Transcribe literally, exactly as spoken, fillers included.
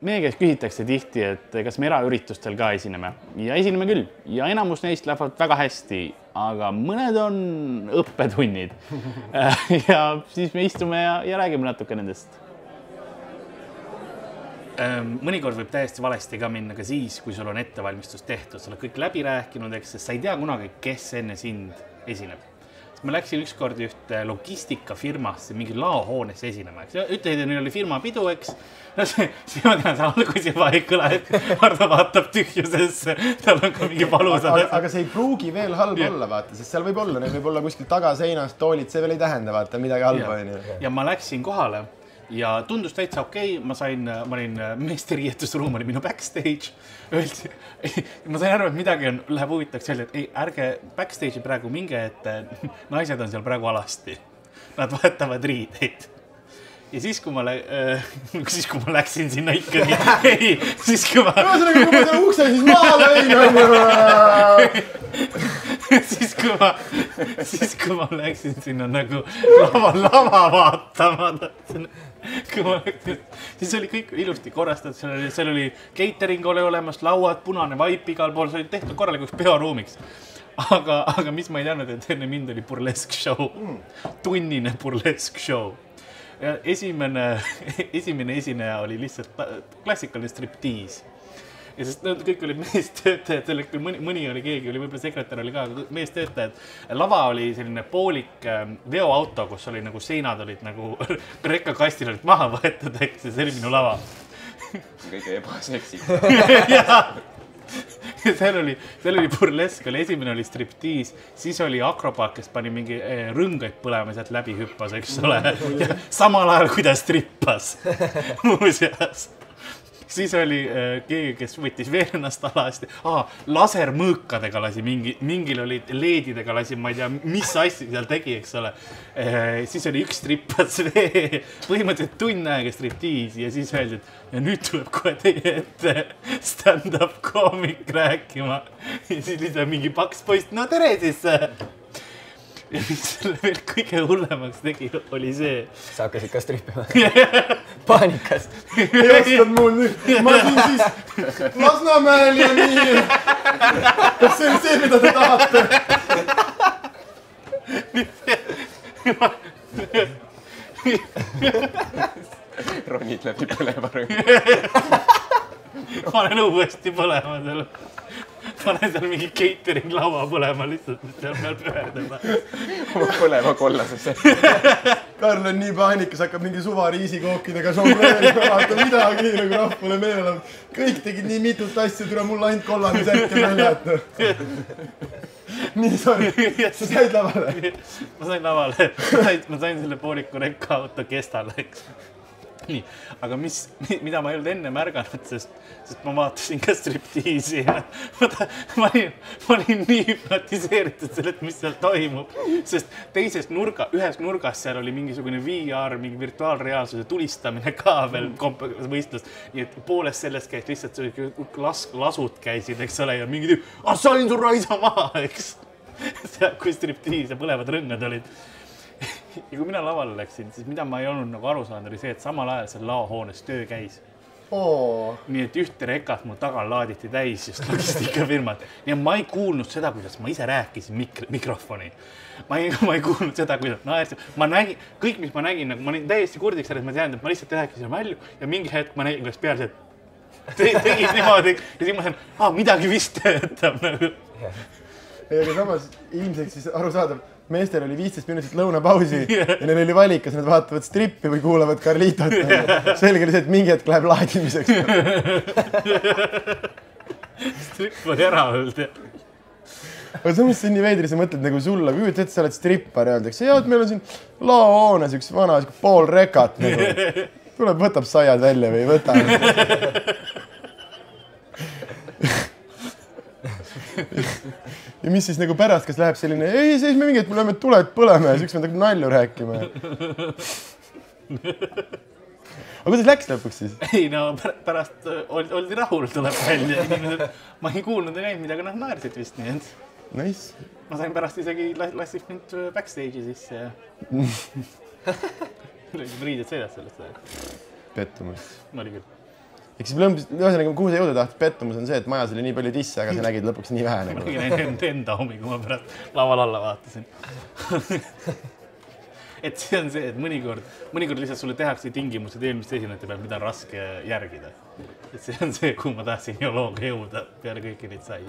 Meie käes küsitakse tihti, et kas me eraüritustel ka esineme ja esineme küll ja enamus neist lähevad väga hästi, aga mõned on õppetunnid ja siis me istume ja, ja räägime natuke nendest. Mõnikord võib täiesti valesti ka minna ka siis, kui sul on ettevalmistus tehtud, sa oled kõik läbi rääkinud, eks, sest sa ei tea kunagi, kes enne sind esineb. Ma läksin ükskord ühte logistikafirmasse, mingi laohoonesse esinema, eks. Ütlesid, et neil oli firma pidu, eks. Siis ma tean, see algus juba ei kõla, et Hardo vaatab tühjusesse, tal on ka mingi palusad. Aga, aga see ei pruugi veel halb ja. olla, vaata, sest seal võib olla, neil võib olla kuskil tagaseinast toolid, see veel ei tähenda, vaata, midagi halba. Ja. ja ma läksin kohale ja tundus täitsa okei, okay. ma sain, ma olin meeste riietusruum, oli minu backstage. Öeldi, ma sain aru, et midagi on, läheb huvitaks öelda, et ei, ärge backstage'i praegu minge, et naised on seal praegu alasti. Nad vahetavad riideid. Ja siis, kui ma, lä... siis, kui ma läksin sinna ikkagi, ei, siis kui ma... Ühesõnaga, kui ma selle ukse siis maale vein, siis, kui ma, siis, kui ma läksin sinna nagu lava, lava vaatama, kui ma läksin, siis oli kõik ilusti korrastatud, seal oli, seal oli catering oli olemas, lauad, punane vaip igal pool, see oli tehtud korralikuks peoruumiks. Aga, aga mis ma ei teadnud, et enne mind oli burlesk show, tunnine burlesk show. Ja esimene, esimene esineja oli lihtsalt klassikaline striptiis. Ja sest nad kõik olid meestöötajad, selleks mõni, mõni oli keegi, oli võib-olla sekretär oli ka meestöötajad. Lava oli selline poolik veoauto, kus oli nagu seinad olid nagu rekkakastil olid maha võetud, eks, ja see oli minu lava. Kõige ebaseksik. Jaa. Seal oli, seal oli burlesk, oli esimene oli striptiis, siis oli akrobaat, kes pani mingi rõngaid põlema sealt läbi hüppas, eks ole. Ja samal ajal, kui ta strippas muuseas. Siis oli keegi, kes võttis veel ennast alasti. Ah, lasermõõkadega lasi, mingi, mingil oli leedidega lasi, ma ei tea, mis asja seal tegi, eks ole. Siis oli üks strippas vee, põhimõtteliselt tunn aega striptiis ja siis öeldi, et ja nüüd tuleb kohe teie ette stand-up koomik rääkima. Ja siis lihtsalt mingi paks poist, no tere siis! Ja mis selle veel kõige hullemaks tegi, oli see. Sa hakkasid ka strippima? Paanikas. Ei ostad mul nüüd. Ma siin siis Lasnamäel ja nii. Kas see on see, mida te tahate? Ronid läbi põlema rõng. Ma olen uuesti põlema seal. Panen seal mingi catering laua põlema lihtsalt, seal peal pöördama. Oma põlema kollasesse. Karl on nii paanikas, hakkab mingi suva riisikookidega žongleerima, vaata midagi, nagu rahvale meelel. Kõik tegid nii mitut asju, tule mul ainult kollane särk ja väljata. Nii, sorry. Sa said lavale? Ma sain lavale. Ma sain selle pooliku rekka auto kestale, eks. Nii, aga mis, mida ma ei olnud enne märganud, sest, sest ma vaatasin ka striptiisi ja ma, ma, olin, ma olin nii hüpnotiseeritud sellest, mis seal toimub, sest teises nurga, ühes nurgas seal oli mingisugune V R, mingi virtuaalreaalsuse tulistamine ka veel võistlust, nii et poolest sellest käis lihtsalt las, lasud käisid, eks ole, ja mingi tüüp, ah, salin su raisa maha, eks, seal kui striptiis ja põlevad rõngad olid. Ja kui mina lavale läksin, siis mida ma ei olnud nagu aru saanud, oli see, et samal ajal seal laohoones töö käis. Oo. Nii et ühte rekat mu tagal laaditi täis just logistikafirmad. Ja ma ei kuulnud seda, kuidas ma ise rääkisin mikro, mikrofoni. Ma ei, ma ei kuulnud seda, kuidas naersin. Ma nägin, kõik, mis ma nägin, nagu ma olin täiesti kurdiks, et ma tean, et ma lihtsalt rääkisin välju ja mingi hetk ma nägin, kuidas peale see tegid niimoodi ja siis ma sain, ah, midagi vist töötab nagu. Ja samas ilmselt siis aru saadav, meestel oli viisteist minutit lõunapausi yeah. ja neil oli valik, kas nad vaatavad strippi või kuulavad Carlitot. Yeah. Selge oli see, et mingi hetk läheb laadimiseks. Stripp oli ära olnud. Aga samas see on nii veidri, sa mõtled nagu sulla, kui ütled, et sa oled strippar ja öeldakse, jah, et meil on siin laohoones üks vana pool rekat. Nagu. Tuleb, võtab saiad välja või võta. Ja mis siis nagu pärast, kas läheb selline, ei, siis me mingi, et me lööme tuled põlema ja siis üks me hakkab nalju rääkima. Aga kuidas läks lõpuks siis? Ei, no pärast oldi rahul, tuleb välja. Ma ei kuulnud ja näinud midagi, nad naersid vist nii, et... Nice. Ma sain pärast isegi lassid mind backstage'i sisse ja... Riided sõidas sellest. Pettumus. Oli küll. Eks siis lõmbis, ühesõnaga, kuhu sa jõuda tahtis, pettumus on see, et majas oli nii palju tisse, aga sa nägid lõpuks nii vähe. Ma nägin ainult enda homi, kui ma pärast laval alla vaatasin. Et see on see, et mõnikord, mõnikord lihtsalt sulle tehakse tingimused eelmiste esinejate peal, mida on raske järgida. Et see on see, kuhu ma tahtsin geoloogia jõuda peale kõiki neid sai.